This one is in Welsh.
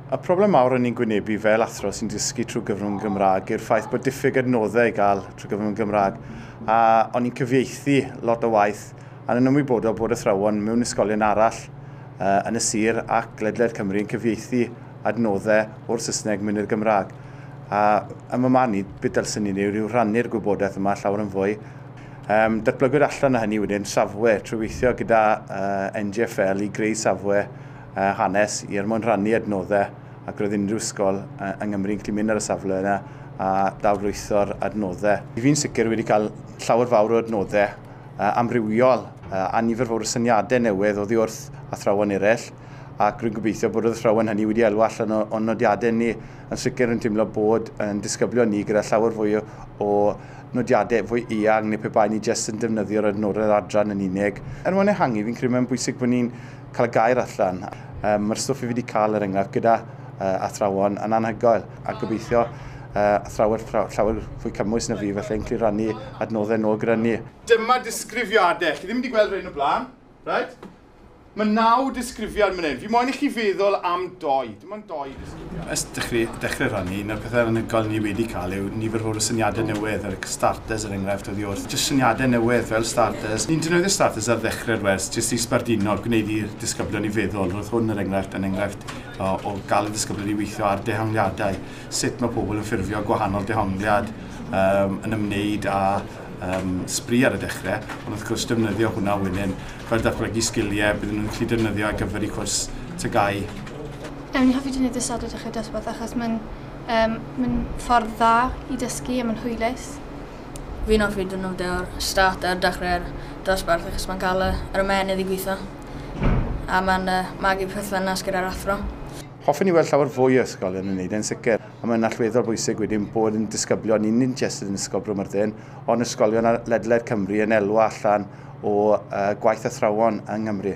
Y problem mawr o'n i'n gwynebu fel athro sy'n dysgu trwy gyfrwng Gymraeg yw'r ffaith bod diffyg adnoddau i gael trwy gyfrwng Gymraeg. A o'n i'n cyfieithu lot o waith a yn ymwybodol bod athrawon mewn ysgolion arall yn y sir ac ledled Cymru yn cyfieithu adnoddau o'r Saesneg mewn i'r Gymraeg. A ym marn i, beth dylswn ni wneud yw rhannu'r gwybodaeth yma llawer yn fwy. Datblygwyd allan o hynny wedyn safwe trwy weithio gyda NGFL i greu safwe hanes i er mwyn rhannu adnoddau, ac roedd unrhyw ysgol yng Nghymru yn gallu mynd ar y safle yna a dawrlwytho'r adnoddau. Fi'n sicr wedi cael llawer fawr o adnoddau amrywiol a nifer fawr o syniadau newydd oddi wrth athrawon eraill, ac rwy'n gobeithio bod yr athrawon hynny wedi elwa allan o'n nodiadau ni. Yn sicr yn teimlo bod yn disgyblion ni gyda llawer fwy o nodiadau fwy eang neu pe bai ni jyst yn defnyddio'r adnoddau'r adran yn unig. Er mwyn ehangu, fi'n credu mae'n bwysig bod ni'n cael y gair allan. Mae'r stwff fi wedi cael er enghraifft gyda athrawon yn anhygoel, a gobeithio athrawon llawer fwy cymwys na fi, felly yn gallu rannu adnoddau nôl gyda ni. Dyma disgrifiadau. Chi ddim wedi gweld rhain o blaen, right? Mae 9 disgrifiad mynd hyn. Fi moyn i chi feddwl am 2. Dim ond 2 disgrifiad. Ers dechrau rhannu, un o'r pethau anhygoel ni wedi cael yw nifer fawr o syniadau newydd, yr starters er enghraifft oddi wrth. Jyst syniadau newydd fel starters. Ni'n defnyddio starters ar ddechrau'r wers, jyst i sbarduno, gwneud i'r disgyblion i feddwl. Roedd hwn er enghraifft yn enghraifft o gael y disgyblion i weithio ar dehongliadau. Sut mae pobl yn ffurfio gwahanol dehongliad yn ymwneud â sbri ar y dechrau, ond wrth gwrs defnyddio hwnna wedyn fel datblygu sgiliau bydden nhw'n gallu defnyddio ar gyfer eu cwrs TGAU. Ni'n hoffi defnyddio starter dechrau dosbarth achos mae'n ffordd dda i dysgu a mae'n hwylus. Fi'n hoffi defnyddio'r starter dechrau'r dosbarth achos mae'n cael yr ymennydd i gweithio a mae'n magu perthynas gyda'r athro. Hoffwn i weld llawer fwy o ysgolion yn wneud e'n sicr, a mae'n allweddol bwysig wedyn bod yn disgyblion, ni nid jyst yn Ysgol Bro Myrddin, ond ysgolion ledled Cymru yn elwa allan o gwaith athrawon yng Nghymru.